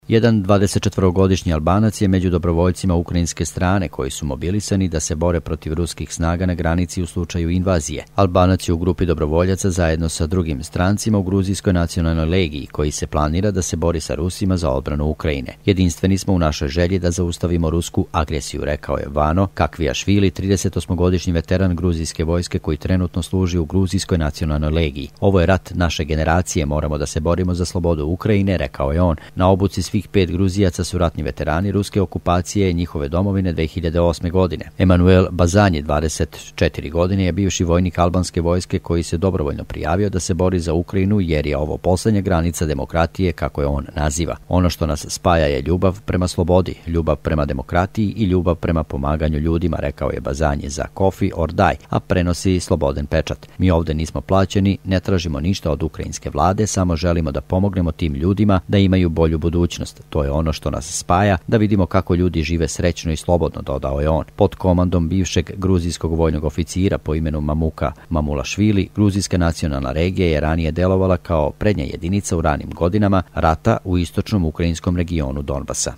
Jedan 24-godišnji Albanac je među dobrovoljcima ukrajinske strane koji su mobilisani da se bore protiv ruskih snaga na granici u slučaju invazije. Albanac je u grupi dobrovoljaca zajedno sa drugim strancima u Gruzijskoj nacionalnoj legiji koji se planira da se bori sa Rusima za odbranu Ukrajine. Jedinstveni smo u našoj želji da zaustavimo rusku agresiju, rekao je Vano Kakvijašvili, 38-godišnji veteran gruzijske vojske koji trenutno služi u Gruzijskoj nacionalnoj legiji. Ovo je rat naše generacije, moramo da se borimo za slobodu Ukrajine, rekao je on. Na obuci svih 5 Gruzijaca su ratni veterani ruske okupacije i njihove domovine 2008. godine. Emanuel Bazanji, 24 godine, je bivši vojnik albanske vojske koji se dobrovoljno prijavio da se bori za Ukrajinu jer je ovo posljednja granica demokratije, kako je on naziva. Ono što nas spaja je ljubav prema slobodi, ljubav prema demokratiji i ljubav prema pomaganju ljudima, rekao je Bazanji za Coffee or Die, a prenosi Slobodan pečat. Mi ovdje nismo plaćeni, ne tražimo ništa od ukrajinske vlade, samo želimo da pomognemo tim ljudima da imaju bolju budućnost. To je ono što nas spaja, da vidimo kako ljudi žive srećno i slobodno, dodao je on. Pod komandom bivšeg gruzijskog vojnog oficira po imenu Mamuka Mamulašvili, Gruzijska nacionalna regija je ranije delovala kao prednja jedinica u ranim godinama rata u istočnom ukrajinskom regionu Donbasa.